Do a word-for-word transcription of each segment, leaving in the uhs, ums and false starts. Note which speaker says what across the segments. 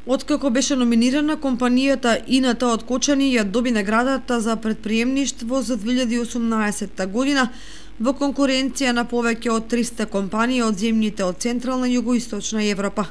Speaker 1: Откако беше номинирана, компанијата ИНТ од Кочани ја доби наградата за претприемништво за две илјади и осумнаесетта година во конкуренција на повеќе од триста компании од земјите од Централна и Југоисточна Европа.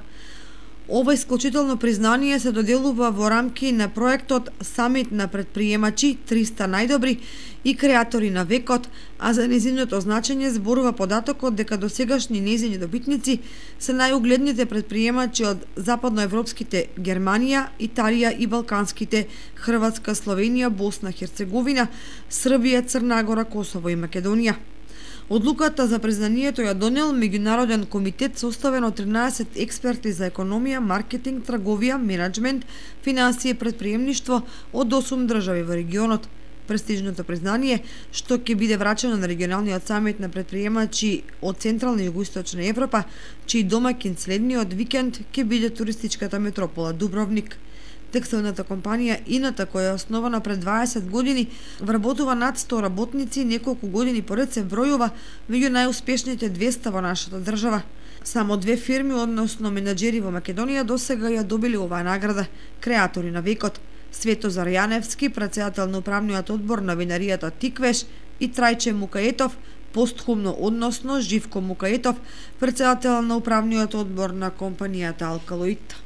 Speaker 1: Ова исклучително признание се доделува во рамки на проектот Самит на претприемачи триста најдобри и креатори на векот, а за незиното значење зборува податокот дека досегашни незини добитници се најугледните претприемачи од западноевропските Германија, Италија и балканските Хрватска, Словенија, Босна, Херцеговина, Србија, Црна Гора, Косово и Македонија. Одлуката за признанието ја донел меѓународен комитет составен од тринаесет експерти за економија, маркетинг, трговија, менаџмент, финансии и претприемништво од осум држави во регионот. Престижното признание, што ќе биде врачено на регионалниот самит на претприемачи од Централна и Југоисточна Европа, чиј домаќин следниот викенд ќе биде туристичката метропола Дубровник. Текстилната компанија ИНТ, која е основана пред дваесет години, вработува над сто работници, неколку години поред се бројува меѓу најуспешните двеста во нашата држава. Само две фирми, односно менаџери во Македонија, досега ја добили оваа награда – креатори на векот. Светозар Јаневски, претседател на управниот одбор на винаријата Тиквеш, и Трајче Мукаетов, постхумно, односно Живко Мукаетов, претседател на управниот одбор на компанијата Алкалоид.